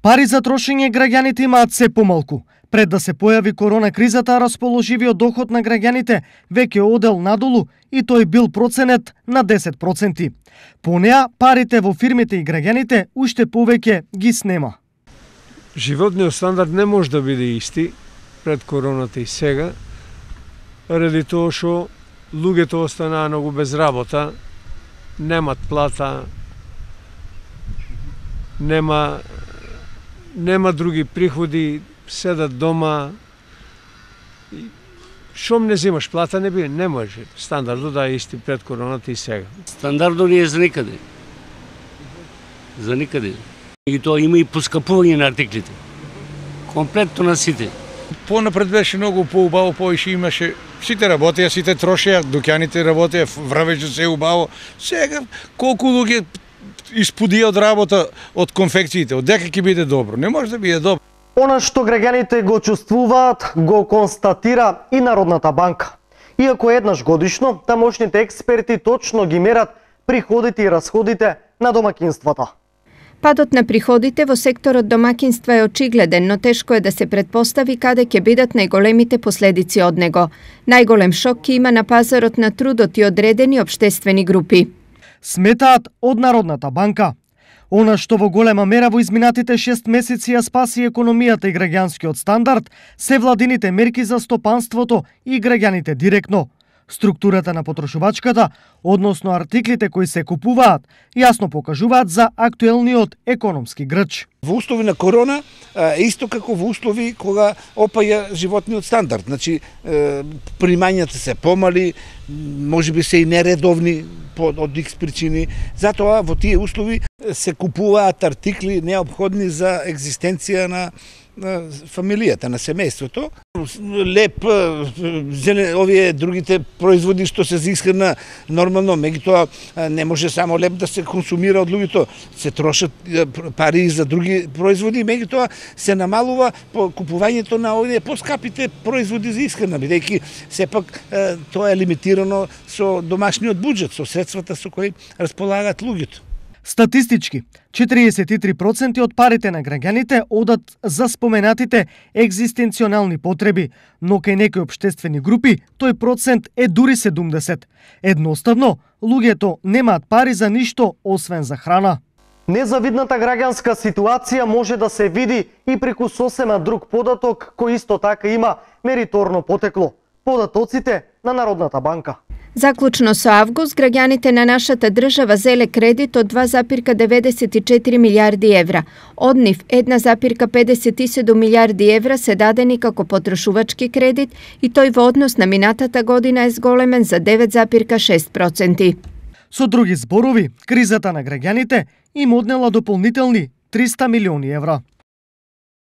Пари за трошење граѓаните имаат се помалку. Пред да се појави корона кризата, расположивиот доход на граѓаните веќе одел надолу и тој бил проценет на 10%. По неа, парите во фирмите и граѓаните уште повеќе ги снема. Животниот стандард не може да биде исти пред короната и сега, ради тоа што луѓето останаа многу без работа, немат плата, нема други приходи, седат дома. Шом не земаш плата, не може. Стандардот да е исти пред короната и сега. Стандардот не е за никаде. За никаде. И тоа има и поскапување на артиклите. Комплетно на сите. Понапред беше многу поубаво, поише имаше. Сите работеа, сите трошеа, дуќаните работеа, врвеше се убаво. Сега колку луѓе испудија од работа од конфекциите, од дека ќе биде добро. Не може да биде добро. Она што граѓаните го чувствуваат, го констатира и Народната банка. Иако еднаш годишно, тамошните експерти точно ги мерат приходите и расходите на домакинствата. Падот на приходите во секторот домакинства е очигледен, но тешко е да се претпостави каде ќе бидат најголемите последици од него. Најголем шок ќе има на пазарот на трудот и одредени општествени групи. Сметаат од Народната банка. Она што во голема мера во изминатите 6 месеци ја спаси економијата и граѓанскиот стандард се владините мерки за стопанството и граѓаните директно. Структурата на потрошувачката, односно артиклите кои се купуваат, јасно покажуваат за актуелниот економски грч. Во услови на корона, исто како во услови кога опаја животниот стандард. Значи, примањата се помали, можеби се и нередовни од икс причини. Затоа во тие услови се купуваат артикли неопходни за екзистенција на фамилијата, на семејството. Леп, овие другите производи што се за исхрана нормално, меѓутоа не може само леп да се консумира од луѓето, се трошат пари за други производи, меѓутоа се намалува купувањето на овие поскапите производи за исхрана, бидејќи сепак тоа е лимитирано со домашниот буџет, со средствата со кои располагаат луѓето. Статистички, 43% од парите на граѓаните одат за споменатите екзистенционални потреби, но кај некои општествени групи тој процент е дури 70. Едноставно, луѓето немаат пари за ништо освен за храна. Незавидната граѓанска ситуација може да се види и преку сосема друг податок кој исто така има мериторно потекло. Податоците на Народната банка. Заклучно со август, граѓаните на нашата држава зеле кредит од 2,94 милиарди евра. Од нив 1,57 милиарди евра се дадени како потрошувачки кредит и тој во однос на минатата година е зголемен за 9,6%. Со други зборови, кризата на граѓаните им однела дополнителни 300 милиони евра.